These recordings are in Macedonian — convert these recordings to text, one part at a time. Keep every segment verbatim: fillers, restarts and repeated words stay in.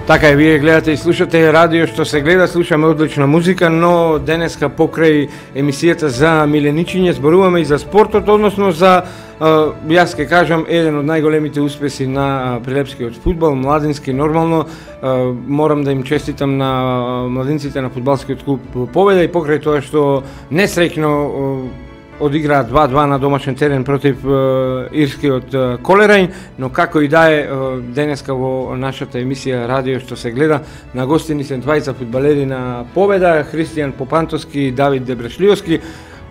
Така е, вие гледате и слушате радио што се гледа, слушаме одлична музика, но денеска покрај емисијата за миленичиње зборуваме и за спортот, односно за, јас ќе кажам, еден од најголемите успеси на прилепскиот фудбал, младински, нормално. Морам да им честитам на младинците на фудбалскиот клуб победа и покрај тоа што несреќно одиграат два-два на домашен терен против е, ирскиот е, Колерај, но како и да е, денеска во нашата емисија радио што се гледа, на гостини се двајца фудбалери на победа, Христијан Попантовски и Давид Дебрешлиовски.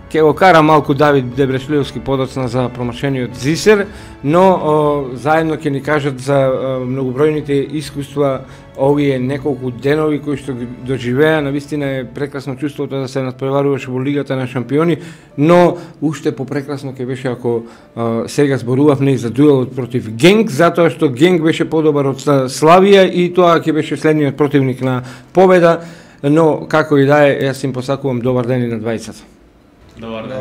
Ке го кара малку Давид Дебрешлиовски подоцна за промашениот Зисер, но о, заедно ќе ни кажат за о, многобројните искуства овие неколку денови кои што ги доживеа. Навистина е прекрасно чувството да се надпреваруваш во Лигата на шампиони, но уште попрекрасно ќе беше ако о, сега зборувавме и за дуелот против Генк, затоа што Генк беше подобар од Славија и тоа ќе беше следниот противник на победа, но како и да е, јас им посакувам добар ден и на двајцата. Добар ден.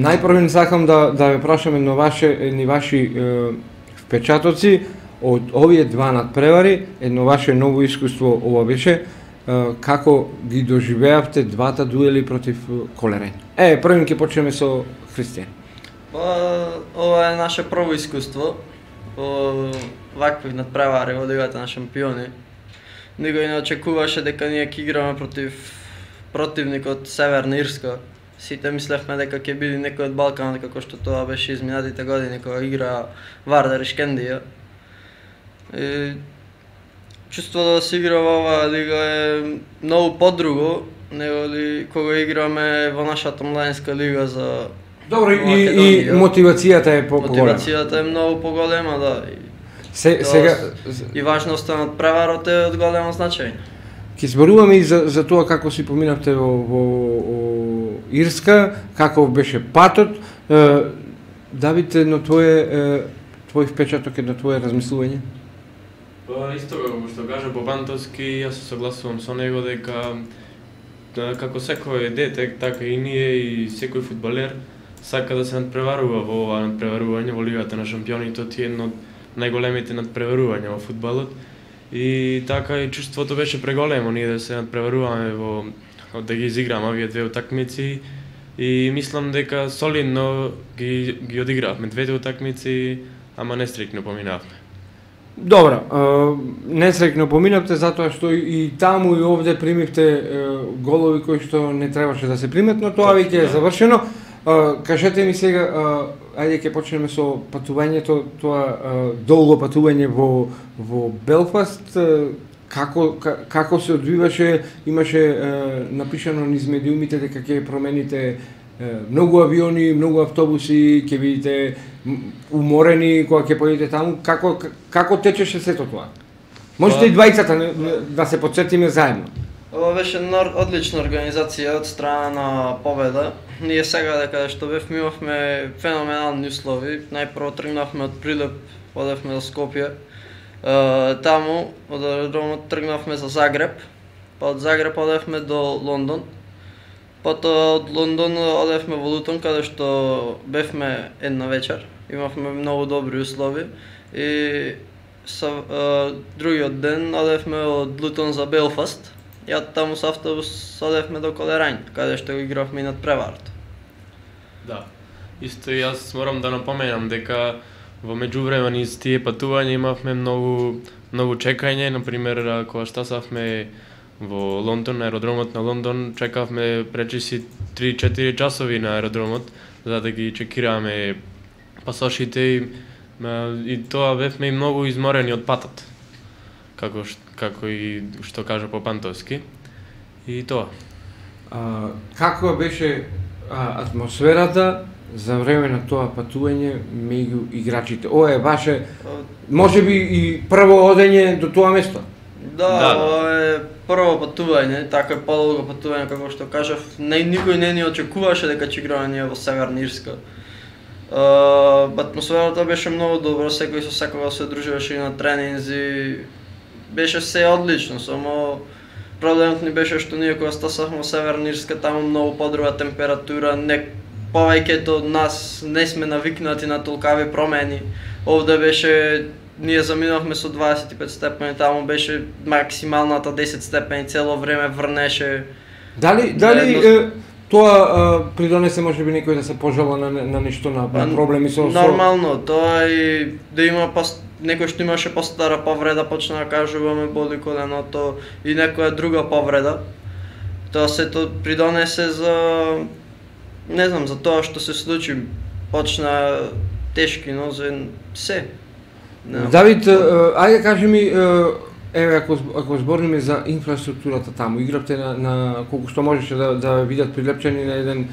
Најпрво не сакам да да ве прашаме на ваше ни ваши е, впечатоци од овие два надпревари, едно ваше ново искуство ова беше, е, како ги доживеавте двата дуели против Колерај. Е, првим ќе почнеме со Христијан. Па, ова е наше прво искуство во вакви надпревари во Лигата на шампиони. Никој не очекуваше дека ние ќе играме против противник од Северна Ирска. Сите мислевме дека ќе биде некој од Балканот, како што тоа беше изминатите години кога игра Вардар и Шкендија. И чувството да се игра во оваа лига е многу подруго неголи кога играме во нашата младинска лига за Добро, и, и мотивацијата е по-голема. Мотивацијата е многу поголема, да. И, Се, сега и важноста на преварот е од големо значење. Ќе зборуваме и за, за тоа како си поминавте во, во, во Ирска, како беше патот. Е, Давид, едно твое, е, твој впечаток, едно твое размислување? Па, исто како што кажа Попантовски, јас се согласувам со него дека да, како секој дете, така и ние и секој фудбалер сака да се надпреварува во ова надпреварување во Лигата на шампионите, тоа е едно од најголемите надпреварувања во фудбалот. И така и чувството беше преголемо ние да се надпреваруваме во да ги изиграме овие две утакмици и мислам дека солидно ги ги одигравме двете утакмици, ама несреќно поминавме. Добро, несреќно поминавте затоа што и таму и овде примивте голови кои што не требаше да се примат, но тоа веќе е завршено. Кажете ми сега, ајде ќе почнеме со патувањето, тоа долго патување во во Белфаст, како како се одвиваше, имаше напишано низ медиумите дека ќе промените многу авиони, многу автобуси, ќе видите уморени кога ќе поидете таму, како како течеше сето тоа? Можете и двајцата да се потсетиме заедно. Ова беше одлична организација од страна на Победа. Ние сега дека што бевме имавме феноменални услови. Најпрво тргнавме од Прилеп, одевме до Скопје. Е, таму од аеродромот тргнавме за Загреб, па од Загреб одевме до Лондон. Потоа од Лондон одевме во Лутон, каде што бевме една вечер. Имавме многу добри услови и со е, другиот ден одевме од Лутон за Белфаст. И од таму со автобус одевме до Колерај, каде што го игравме и надпреварот. Да. Исто и јас морам да напоменам дека во меѓувреме низ тие патувања имавме многу многу чекање, на пример кога стасавме во Лондон, на аеродромот на Лондон, чекавме пречиси три-четири часови на аеродромот за да ги чекираме пасошите и, и тоа бевме и многу изморени од патот. Како како и што кажа Попантовски. И тоа. А, како беше а, атмосферата за време на тоа патување меѓу играчите? Ова е ваше можеби и прво одење до тоа место? Да, да, ова е прво патување, така е подолго патување како што кажав. Не никој не ни очекуваше дека ќе играме ние во Северна Ирска. Uh, атмосферата беше многу добра, секој со секого се дружеше и на тренинзи. Беше се одлично, само проблемот ни беше што ние кога стасавме во Северна Ирска, таму многу подруга температура, не повеќето од нас не сме навикнати на толкави промени. Овде беше ние заминавме со дваесет и пет степени, таму беше максималната десет степени, цело време врнеше. Дали дали едно... е, тоа а, придонесе можеби некој да се пожала на на нешто на, на проблеми со нормално, тоа и да има пас, некој што имаше постара повреда, почна да кажуваме боли коленото и некоја друга повреда. Тоа сето придонесе за не знам, за тоа што се случи, почна тешки нозе се. Давид, ајде кажи ми, еве ако ако збориме за инфраструктурата таму, игравте на, на колку што можеше да да видат прилепчени на еден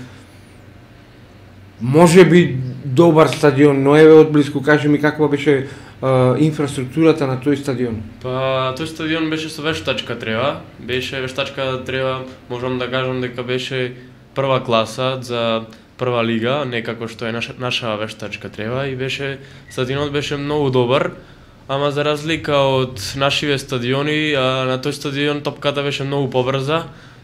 можеби добар стадион, но еве одблиску кажи ми каква беше а, инфраструктурата на тој стадион. Па тој стадион беше со вештачка трева, беше вештачка трева, можам да кажам дека беше прва класа за прва лига, не како што е наша, наша вештачка трева и беше стадионот беше многу добар, ама за разлика од нашиве стадиони, а, на тој стадион топката беше многу побрза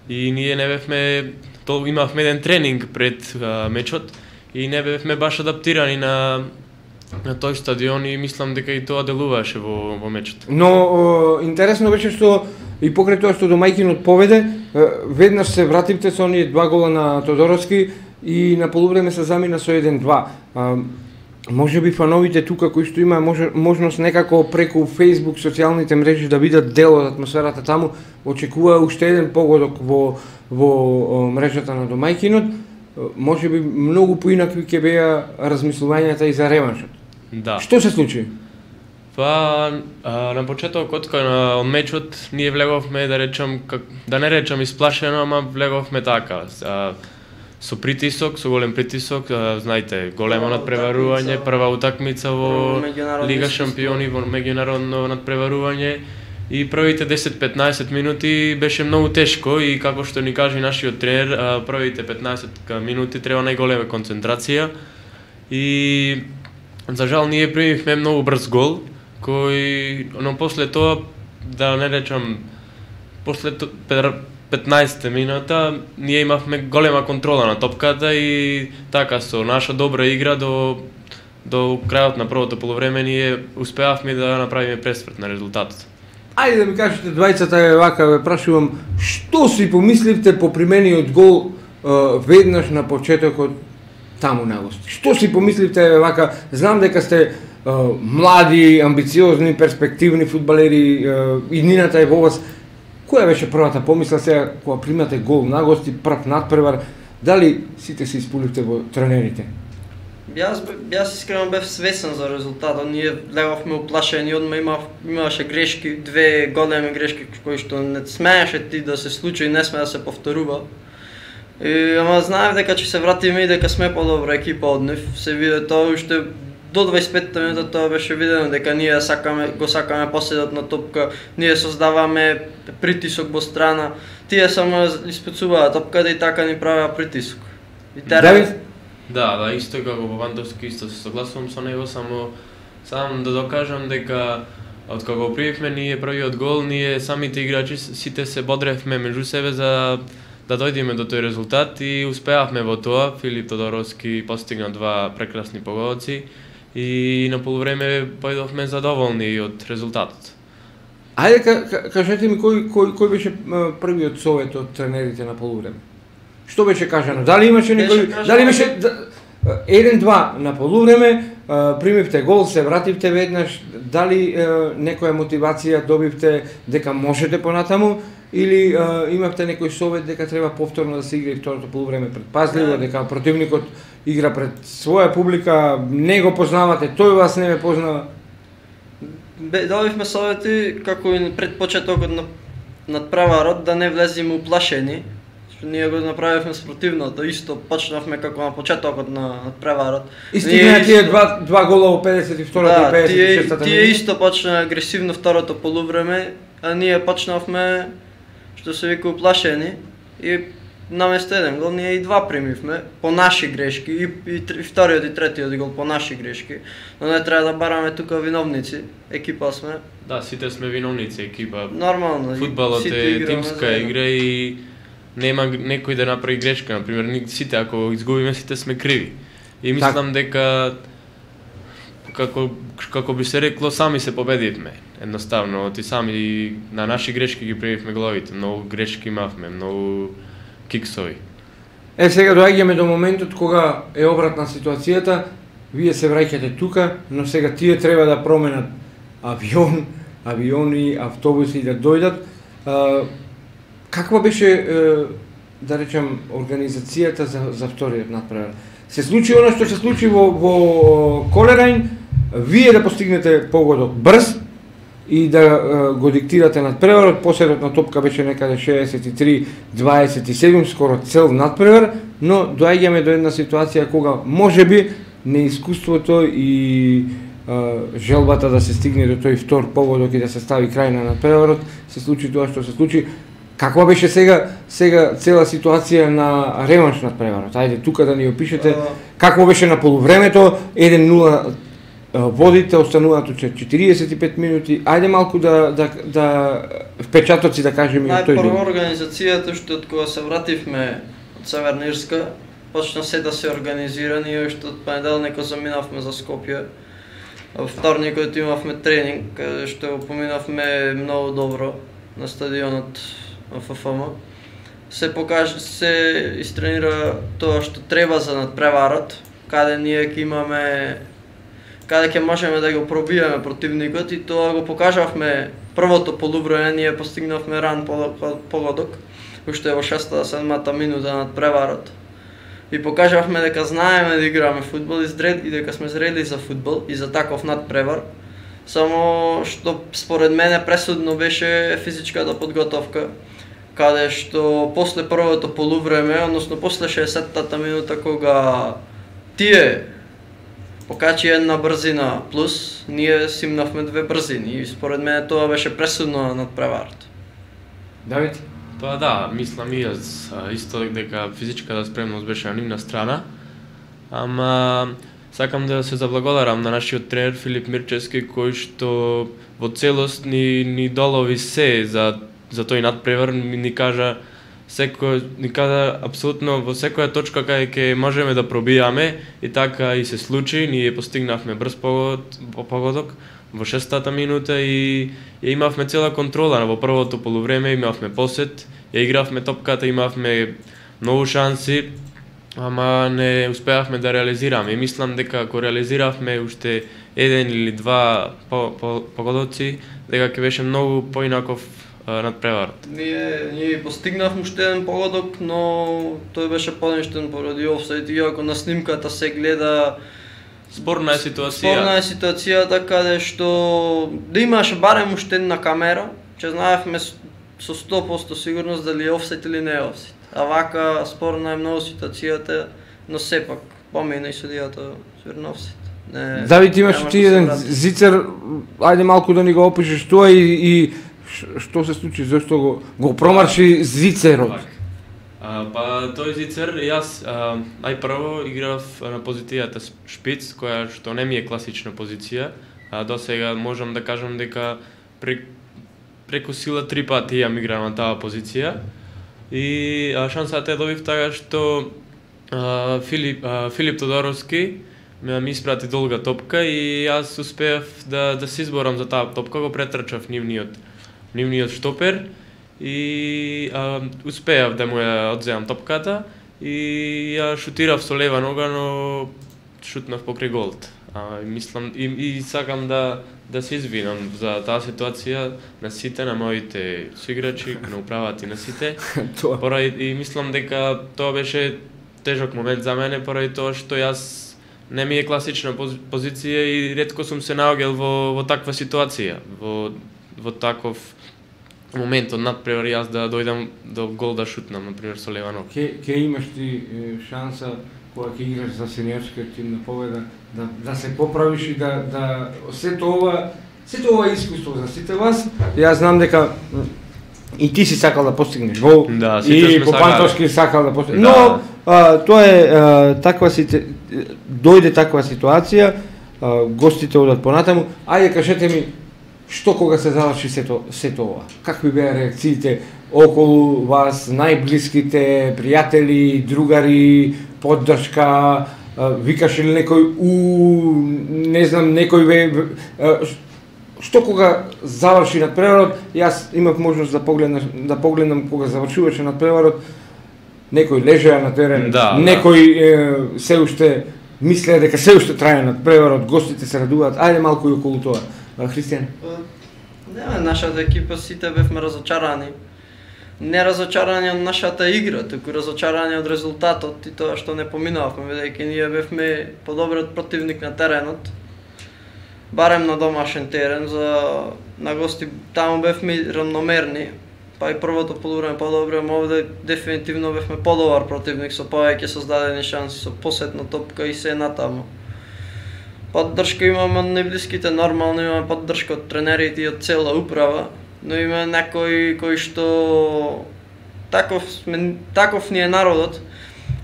и ние не бевме, то имавме еден тренинг пред а, мечот и не бевме баш адаптирани на на тој стадион и мислам дека и тоа делуваше во во мечот. Но о, интересно беше што и покрај тоа што домајкинот поведе, веднаш се вративте со оние два гола на Тодоровски и на полувреме се замина со еден два. Може би фановите тука кои што има може, можност некако преку Facebook, социјалните мрежи да видат дел од атмосферата таму, очекува уште еден погодок во во мрежата на домајкинот. Може би многу поинакви ќе беа размислувањата и за реваншот. Да. Што се случи? Па а, на почетокот кај на мечот ние влеговме да речам как, да не речам исплашено, ама влеговме така. А, со притисок, со голем притисок, а, знаете, големо надпреварување, прва утакмица во Лига шампиони, во меѓународно надпреварување и првите десет-петнаесет минути беше многу тешко и како што ни кажа нашиот тренер, а, првите петнаесет минути треба најголема концентрација и за жал ние примивме многу брз гол кој, но после тоа, да не речам, после петнаесетте минута ние имавме голема контрола на топката и така со наша добра игра до до крајот на првото полувреме ние успеавме да направиме пресврт на резултатот. Ајде да ми кажете двајцата, е вака ве прашувам, што си помисливте по примениот гол е, веднаш на почетокот таму на гости? Што си помисливте е вака, знам дека сте е, млади, амбициозни, перспективни фудбалери, е, иднината е во вас. Која беше првата помисла сега кога примате гол на гости, прв надпревар, дали сите се испуливте во тренерите? Јас, јас искрено бев свесен за резултатот, ние леговме уплашени, одма има, имаше грешки, две големи грешки кои што не смееше ти да се случи и не сме да се повторува. И, ама знаев дека ќе се вратиме и дека сме подобра екипа од нив, се виде тоа уште до дваесет и петта минута тоа беше видено дека ние сакаме, го сакаме поседот на топка, ние создаваме притисок во страна, тие само испецуваат топката и така ни правеа притисок. И Давид? Да, да, исто како во Вандовски, исто се согласувам со него, само сам да докажам дека од кога примивме ние првиот гол, ние самите играчи сите се бодревме меѓу себе за да дојдеме до тој резултат и успеавме во тоа. Филип Тодоровски постигна два прекрасни погодоци и на полувреме појдовме задоволни од резултатот. Ајде кажете ми кој кој кој беше првиот совет од тренерите на полувреме? Што беше кажано? Дали имаше некој, дали беше еден-два на полувреме, примивте гол, се вративте веднаш, дали некоја мотивација добивте дека можете понатаму или имавте некој совет дека треба повторно да се игра и второто полувреме предпазливо, дека противникот игра пред своја публика, не го познавате, тој вас не ме познава? Добивме совети како и пред почетокот на надпреварот да не влеземе уплашени. Ние го направивме спротивното, исто почнавме како на почетокот на надпреварот. И стигна тие два, два гола во педесет и втората и педесет и шестата минута. Тие исто почна агресивно второто полувреме, а ние почнавме, што се вика, уплашени и наместо еден гол ние и два примивме по наши грешки и, и, и вториот и третиот гол по наши грешки. Но не треба да бараме тука виновници, екипа сме. Да, сите сме виновници, екипа. Нормално. Фудбалот е тимска игра и нема некој да направи грешка, например, сите ако изгубиме сите сме криви. И мислам дека како како би се рекло, сами се победивме. Едноставно, ти сами на наши грешки ги правивме головите, многу грешки имавме, многу киксови. Е, сега доаѓаме до моментот кога е обратна ситуацијата, вие се враќате тука, но сега тие треба да променат авион, авиони, автобуси да дојдат. А, каква беше, да речем, организацијата за, за вториот натпревар? Се случи оно што се случи во, во Колерајн, вие да постигнете погодок брз и да е, го диктирате надпреварот. Посетот на топка беше некаде шеесет и три дваесет и седум, скоро цел надпревар, но доаѓаме до една ситуација кога можеби неискуството и е, желбата да се стигне до тој втор погодок и да се стави крај на надпреварот, се случи тоа што се случи. Каква беше сега сега цела ситуација на реванш надпреварот? Ајде тука да ни опишете какво беше на полувремето, еден нула водите, остануваат четириесет и пет минути. Ајде малку да да да впечатоци да кажеме од тој ден. Најпрво организацијата што од кога се вративме од Северна Ирска, почна се да се организира, ние уште од понеделникот заминавме за Скопје. Во вторникот имавме тренинг, каде што го поминавме многу добро на стадионот Ф Ф М. Се покажа, се истренира тоа што треба за надпреварот, каде ние ќе имаме, каде ќе можеме да го пробиеме противникот, и тоа го покажавме првото полувреме. Ние постигнавме ран погодок уште во шеста седмата минута на надпреварот. И покажавме дека знаеме да играме фудбал и дека сме зрели за фудбал и за таков надпревар. Само што според мене пресудно беше физичката подготовка, каде што после првото полувреме, односно после шеесеттата минута, кога тие покачи една брзина плюс, ние симнавме две брзини, и според мене тоа беше пресудно на надпреварот. Давид? Па да, мислам и јас исто дека физичката спремност беше на нивна страна, ама сакам да се заблагодарам на нашиот тренер Филип Мирчевски, кој што во целост ни ни долови се за за тој надпревар, ни кажа секој ни кажа апсолутно во секоја точка кај ќе можеме да пробијаме, и така и се случи. Ние постигнавме брз погод, погодок во шестата минута и ја имавме цела контрола во првото полувреме, имавме посет, ја игравме топката, имавме многу шанси, ама не успеавме да реализираме. И мислам дека ако реализиравме уште еден или два погодоци, дека ќе беше многу поинаков надпреварот. Ние ние постигнавме уште еден погодок, но тој беше поништен поради офсайд, иако на снимката се гледа спорна е ситуација. Спорна е ситуацијата, каде што да имаше барем уште една камера, че знаевме со сто проценти сигурност дали е офсайд или не е офсайд. А вака спорна е многу ситуацијата, но сепак помина и судијата сигурно офсайд. Не, Давид, имаш ти еден зицер, ајде малку да ни го опишеш тоа и, и што се случи, зашто го, го промарши зицерот? А, па тој зицер, јас а, најпрво играв на позицијата шпиц, која што не ми е класична позиција. А, до сега можам да кажам дека прек, преку сила три пати јам играм на таа позиција. И а, шансата е добив така што а, Филип, а, Филип Тодоровски ми испрати долга топка и јас успеав да, да се изборам за таа топка, го претрчав нивниот, нивниот штопер и а, успеав да му ја одземам топката и ја шутирав со лева нога, но шутнав покрај голот. А, мислам и, и сакам да да се извинам за таа ситуација на сите, на моите соиграчи, на управата и на сите. Поради и мислам дека тоа беше тежок момент за мене, поради тоа што јас не ми е класична позиција и ретко сум се наоѓал во во таква ситуација, во во таков момент од надпревар јас да дојдам до гол да шутнам, например, со лева нога. Ке ке имаш ти е, шанса кога ќе играш за сениорскиот тим на победа да да се поправиш и да да сето ова сето ова искуство за сите вас. Јас знам дека и ти си сакал да постигнеш гол, да, и Попантовски сакал да постигне. Да. Но а, тоа е а, таква сите дојде таква ситуација, а, гостите одат понатаму. Ајде кажете ми што кога се заврши сето сето ова? Какви беа реакциите околу вас, најблиските, пријатели, другари, поддршка, викаше ли некој у не знам некој ве што кога заврши надпреварот, јас имав можност да погледнам да погледнам кога завршуваше надпреварот, некој лежеа на терен, да, некој да. Е, се уште мислеа дека се уште трае надпреварот, гостите се радуваат. Ајде малку и околу тоа. Христијан? Не, нашата екипа сите бевме разочарани. Не разочарани од нашата игра, туку разочарани од резултатот и тоа што не поминавме, бидејќи ние бевме подобриот противник на теренот. Барем на домашен терен, за на гости таму бевме равномерни, па и првото полувреме подобро, ама овде дефинитивно бевме подобар противник со повеќе создадени шанси, со посетна топка и се натаму. Поддршка имаме од најблиските, нормално имаме поддршка од тренерите и од цела управа, но има некои кои што таков сме, таков ни е народот,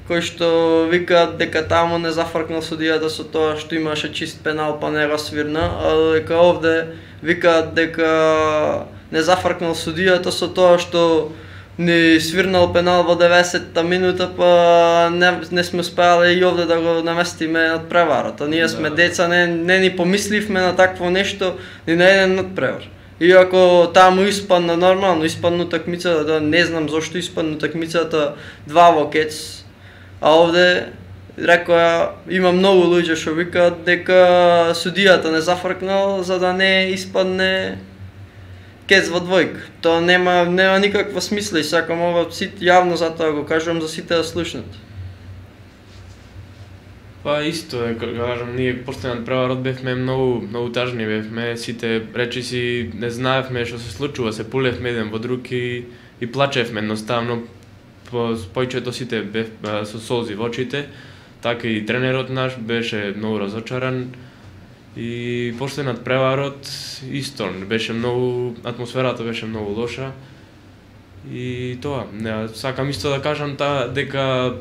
кои што викаат дека таму не зафркнал судијата со тоа што имаше чист пенал па не го свирна, а дека овде викаат дека не зафркнал судијата со тоа што ни свирнал пенал во деветдесетта минута, па не, не сме успеале и овде да го наместиме надпреварот. А ние сме деца, не, не ни помисливме на такво нешто, ни на еден надпревар. Иако таму испадна нормално, испадна утакмицата, да не знам зошто испадна утакмицата два во кец, а овде рекоа има многу луѓе што викаат дека судијата не зафркнал за да не испадне кец во двојка. Тоа нема нема никаква смисла и сакам ова сите јавно затоа го кажувам за сите да слушнат. Па исто е, кажам, ние после надпреварот бевме многу многу тажни бевме, сите речиси не знаевме што се случува, се пулевме еден во друг и, и плачевме едноставно. По појчето сите бев со солзи во очите, така и тренерот наш беше многу разочаран. И после надпреварот исто беше многу, атмосферата беше многу лоша. И тоа, не, сакам исто да кажам та дека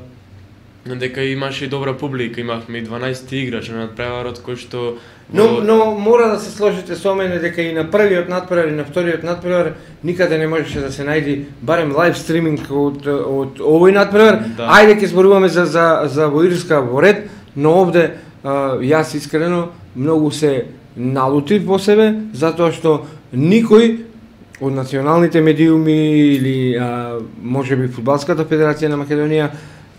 дека имаше и добра публика, имавме и дванаесет играчи на надпреварот кои што Но, но мора да се сложите со мене дека и на првиот надпревар и на вториот надпревар никаде не можеше да се најди барем лайв стриминг од од овој надпревар. Да. Ајде ќе зборуваме за за за во Ирска во ред, но овде а, јас искрено многу се налутив во себе затоа што никој од националните медиуми или а, можеби фудбалската федерација на Македонија,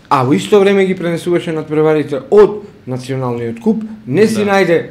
а во исто време ги пренесуваше надпреварите од националниот куп, не си да. најде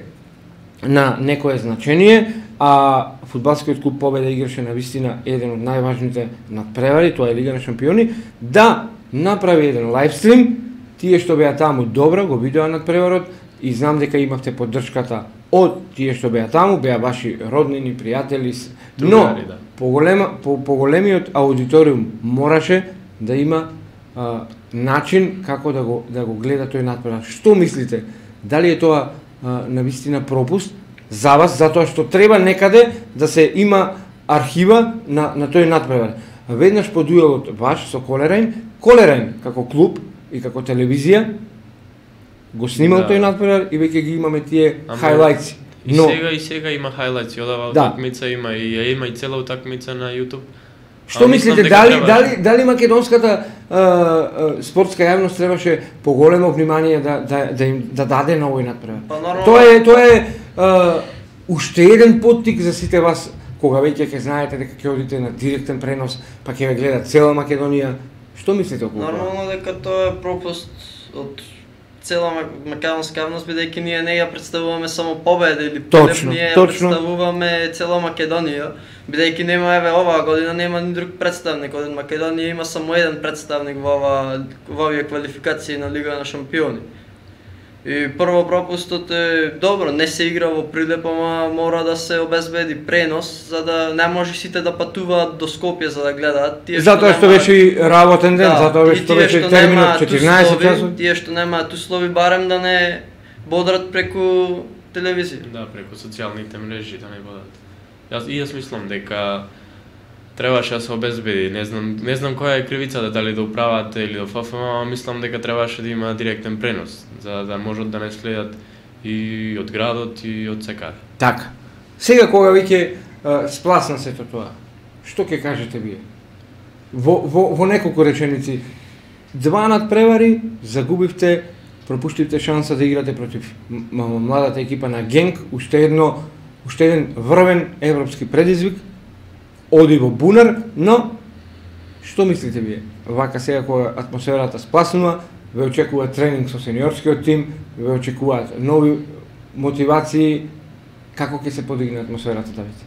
на некое значение, а фудбалскиот клуб Победа играше на вистина еден од најважните надпревари, тоа е Лига на шампиони, да направи еден лайвстрим, тие што беа таму добро го видоа надпреварот и знам дека имавте поддршката од тие што беа таму, беа ваши роднини, пријатели, но да. поголема, по, поголемиот аудиториум мораше да има а, начин како да го да го гледа тој надпревар. Што мислите? Дали е тоа на вистина пропуст за вас, затоа што треба некаде да се има архива на, на тој надпревар. Веднаш по дуелот ваш со Колерајн, Колерајн како клуб и како телевизија го снимал да. тој надпревар и веќе ги имаме тие хайлајтси. И но... сега и сега има хайлајтси, одава да. утакмица има и има и цела утакмица на YouTube. Што а, мислите, дали, треба... дали, дали македонската а, а, спортска јавност требаше поголемо внимание да, да, да им да даде на овој надпревар? Па, нормално... Тоа е, тоа е а, уште еден поттик за сите вас, кога веќе ќе знаете дека ќе одите на директен пренос, па ќе ве гледа цела Македонија. Што мислите околу тоа? Нормално дека тоа е пропуст од цела македонска јавност, бидејќи ние не ја представуваме само Победа или точно, ние ја точно. представуваме цела Македонија. Бидејќи нема еве оваа година нема ни друг представник, од Македонија има само еден представник во ова во овие квалификации на Лига на шампиони. И прво пропустот е добро, не се игра во Прилеп, ама мора да се обезбеди пренос за да не може сите да патуваат до Скопје за да гледаат. Тие затоа што, што беше и работен ден, да, затоа што беше терминот четирнаесет часот. Тие што немаат услови барем да не бодрат преку телевизија. Да, преку социјалните мрежи да не бодат. Јас и јас мислам дека требаше да се обезбеди, не знам, не знам која е кривицата, дали до управата или до Ф Ф М, ама мислам дека требаше да има директен пренос, за да можат да не следат и од градот и од секаде. Така. Сега кога веќе спласна сето тоа, што ќе кажете вие? Во, во, во неколку реченици, два надпревари, загубивте пропуштивте шанса да играте против младата екипа на Генк, уште едно уште еден врвен европски предизвик, оди во бунар, но што мислите вие? Вака сега кога атмосферата спласнува, ве очекува тренинг со сениорскиот тим, ве очекуваат нови мотивации, како ќе се подигне атмосферата, Давид?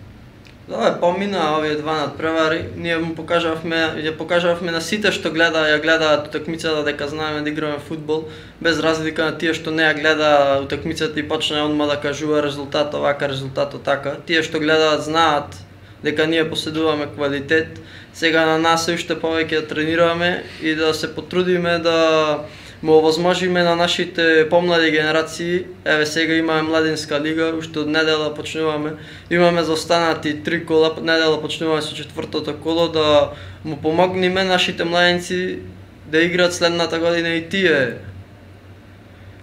Да, помина овие два надпревари, ние му покажавме, ја покажавме на сите што гледа, ја гледаат утакмицата дека знаеме да играме фудбал, без разлика на тие што не ја гледа утакмицата и почне одма да кажува резултат овака, резултатот така. Тие што гледаат знаат дека ние поседуваме квалитет. Сега на нас е уште повеќе да тренираме и да се потрудиме да му овозможиме на нашите помлади генерации. Еве сега имаме младинска лига, уште од недела почнуваме. Имаме за останати три кола, недела почнуваме со четвртото коло, да му помогнеме нашите младенци да играат следната година и тие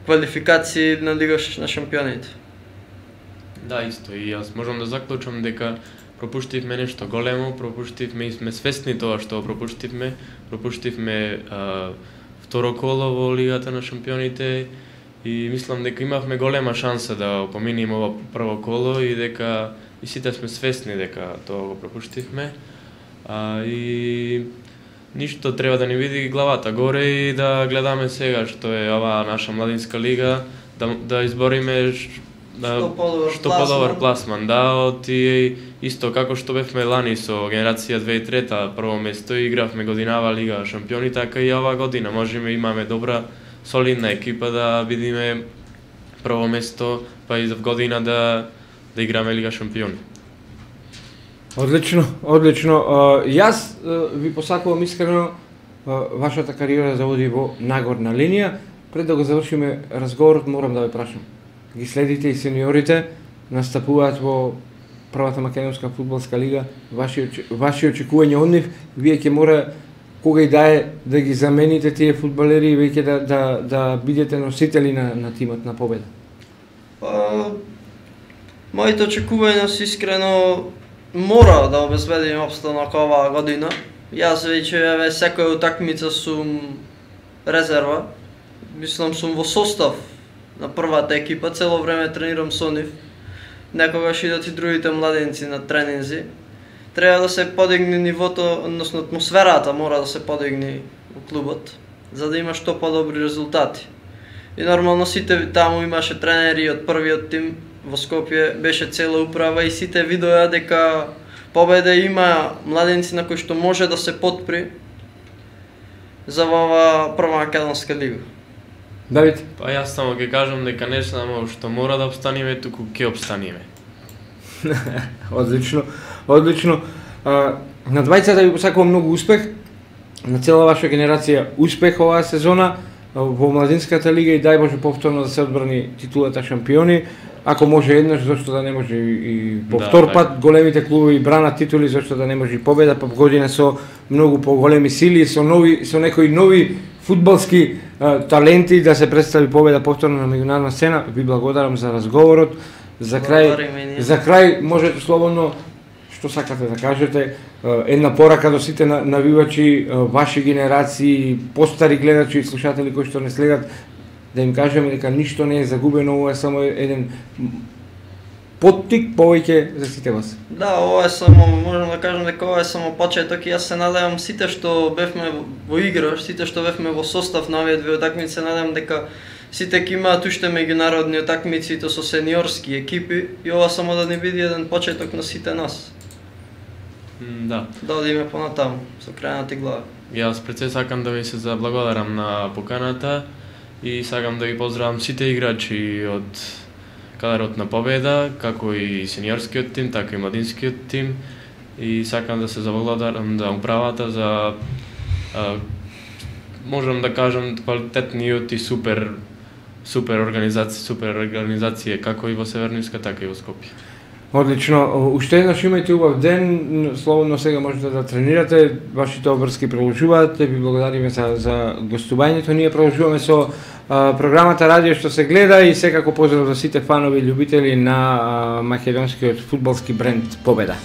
квалификации на Лига на шампионите. Да, исто, и јас можам да заклучам дека пропуштивме нешто големо, пропуштивме и сме свесни тоа што пропуштивме, пропуштивме а, второ коло во Лигата на шампионите и мислам дека имавме голема шанса да поминеме ова прво коло и дека и сите сме свесни дека тоа го пропуштивме. А, и ништо треба да ни види главата горе и да гледаме сега што е ова наша младинска лига, да, да избориме да, што подобар што подобар пласман, да, од и исто како што бевме лани со генерација две тисячи и трета прво место и игравме годинава Лига шампиони, така и оваа година можеме имаме добра солидна екипа да бидиме прво место, па и за година да да играме Лига шампиони. Одлично, одлично. Јас ви посакувам искрено вашата кариера да оди во нагорна линија. Пред да го завршиме разговорот, морам да ве прашам. Ги следите и сениорите, настапуваат во првата македонска фудбалска лига, ваши ваши очекувања од нив, вие ќе мора кога и да е да ги замените тие фудбалери и веќе да да да бидете носители на на тимот на победа. Па моите очекувања се искрено мора да обезбедиме опстанок оваа година. Јас веќе еве секоја утакмица сум резерва. Мислам сум во состав на првата екипа, цело време тренирам со нив. Некогаш идат и другите младенци на тренинзи. Треба да се подигне нивото, односно атмосферата мора да се подигне во клубот, за да има што подобри резултати. И нормално сите таму имаше тренери од првиот тим во Скопје, беше цела управа и сите видоа дека Победа има младенци на кои што може да се подпри за ова прва македонска лига. Давид? Па јас само ќе кажам дека не само што мора да обстаниме, туку ќе обстаниме. Одлично, одлично. А, на двајцата ви посакувам многу успех, на цела ваша генерација успех оваа сезона во младинската лига и дај Боже повторно да се одбрани титулата шампиони. Ако може еднаш, зашто да не може и повтор да, пат, големите клубови бранат титули, зашто да не може и победа, па година со многу поголеми сили, со нови со некои нови фудбалски а, таленти да се представи победа повторно на меѓународна сцена. Ви благодарам за разговорот. За крај, за крај можете слободно што сакате да кажете, една порака до сите навивачи, ваши генерации, постари гледачи и слушатели кои што не следат, да им кажеме дека ништо не е загубено, ова е само еден поттик повеќе за сите вас. Да, ова е само, можам да кажам дека ова е само почеток и јас се надевам сите што бевме во игра, сите што бевме во состав на овие две утакмици, се надевам дека сите ќе имаат уште меѓународни утакмици и то со сениорски екипи и ова само да не биде еден почеток на сите нас. Да. Да одиме понатаму со крајната глава. Јас пред се сакам да ви се заблагодарам на поканата и сакам да ги поздравам сите играчи од кадарот на Победа, како и сениорскиот тим, така и младинскиот тим, и сакам да се заблагодарам за управата за а, можам да кажам квалитетниот и супер супер организација, супер организација како и во Северниска, така и во Скопје. Одлично, уште еднаш имајте убав ден, слободно сега можете да тренирате, вашите обврски продолжуваат, ви благодариме за, за гостувањето, ние продолжуваме со а, програмата Радио што се гледа и секако поздрав за сите фанови и љубители на а, македонскиот фудбалски бренд Победа.